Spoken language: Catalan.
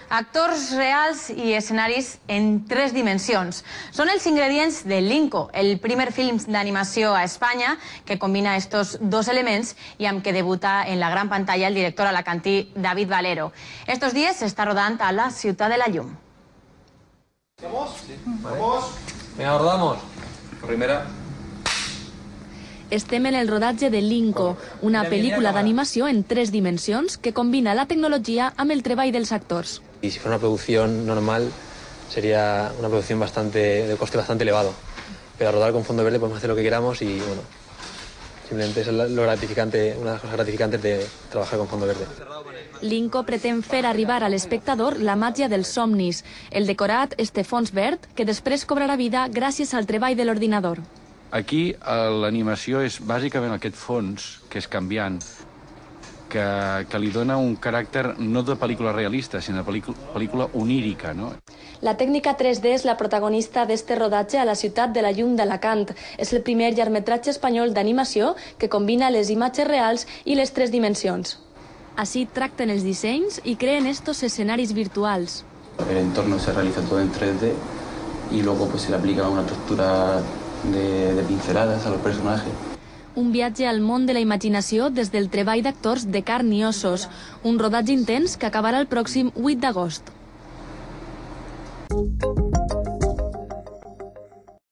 Actors reals i escenaris en 3 dimensions. Són els ingredients de Linko, el primer film d'animació a Espanya que combina estos dos elements i amb què debuta en la gran pantalla el director alacantí David Valero. Estos días se està rodant a la Ciutat de la Llum. ¿Vamos? Sí. Vamos. Venga, rodamos. Primera. Estem en el rodatge de Linko, una pel·lícula d'animació en 3 dimensions que combina la tecnologia amb el treball dels actors. Y si fuera una producción normal, sería una producción de coste bastante elevado. Pero al rodar con fondo verde podemos hacer lo que queramos y, bueno, simplemente es lo gratificante, una de las cosas gratificantes de trabajar con fondo verde. Linko pretén fer arribar a l'espectador la màgia dels somnis, el decorat este fons verd que després cobrarà vida gràcies al treball de l'ordinador. Aquí l'animació és bàsicament aquest fons, que és canviant, que li dona un caràcter no de pel·lícula realista, sinó de pel·lícula onírica, no? La tècnica 3D és la protagonista d'este rodatge a la Ciutat de la Llum d'Alacant. És el primer llargmetratge espanyol d'animació que combina les imatges reals i les 3 dimensions. Així tracten els dissenys i creen estos escenaris virtuals. El entorno se realiza todo en 3D y luego pues se le aplica una textura de pinceladas a los personajes. Un viatge al món de la imaginació des del treball d'actors de carn i ossos. Un rodatge intens que acabarà el pròxim 8 d'agost.